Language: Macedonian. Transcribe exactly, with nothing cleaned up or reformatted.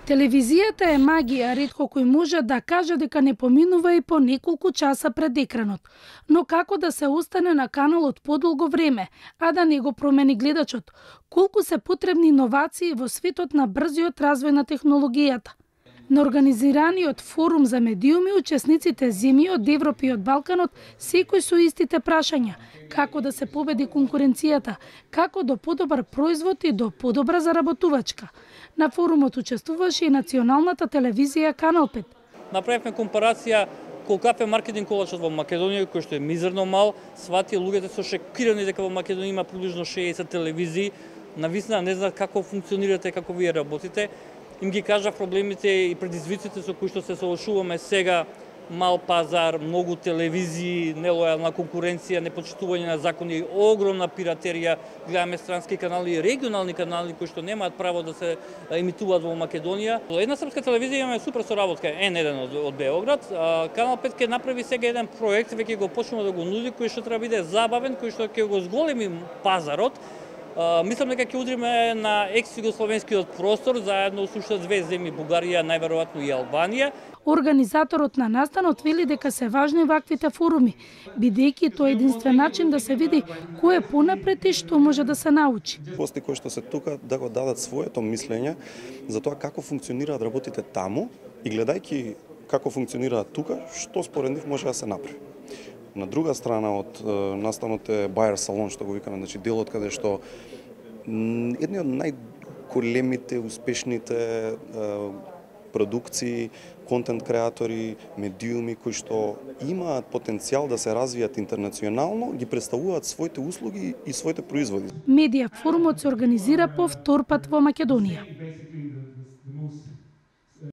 Телевизијата е магија, ретко кој може да каже дека не поминува и по неколку часа пред екранот. Но како да се остане на каналот подолго време, а да не го промени гледачот? Колку се потребни иновации во светот на брзиот развој на технологијата? На организираниот форум за медиуми, учесниците земји од Европа и од Балканот секој со истите прашања. Како да се победи конкуренцијата, како до подобар производ и до подобра заработувачка. На форумот учествуваше и националната телевизија Канал пет. Направивме компарација колкав е маркетинг колачот во Македонија, кој што е мизерно мал, свати луѓето се шокирани дека во Македонија има приближно шеесет телевизии, навистина не знаат како функционирате, како вие работите. Им ги кажа проблемите и предизвиците со кои што се соочуваме сега: мал пазар, многу телевизии, нелојална конкуренција, непочитување на закони, огромна пиратерија, гледаме странски канали, регионални канали кои што немаат право да се емитуваат во Македонија. Една српска телевизија имаме супер соработка ен еден од, од Београд. Канал пет ќе направи сега еден проект, веќе го почнува да го нуди, кој што треба биде забавен, кој што ќе го зголеми пазарот. Uh, мислам дека ќе удриме на екс-југословенскиот простор, заедно со уште две земји, Бугарија, најверојатно и Албанија. Организаторот на настанот вели дека се важни ваквите форуми, бидејќи тоа е единствен начин да се види кој е понапред и што може да се научи. Гости кои што се тука да го дадат своето мислење за тоа како функционираат работите таму и гледајќи како функционираат тука, што според нив може да се направи. На друга страна од настанот е Buyer Salon, што го викаме, значи делот каде што едни од најголемите, успешните продукции, контент креатори, медиуми кои што имаат потенцијал да се развијат интернационално, ги представуваат своите услуги и своите производи. Медија форумот се организира по втор пат во Македонија.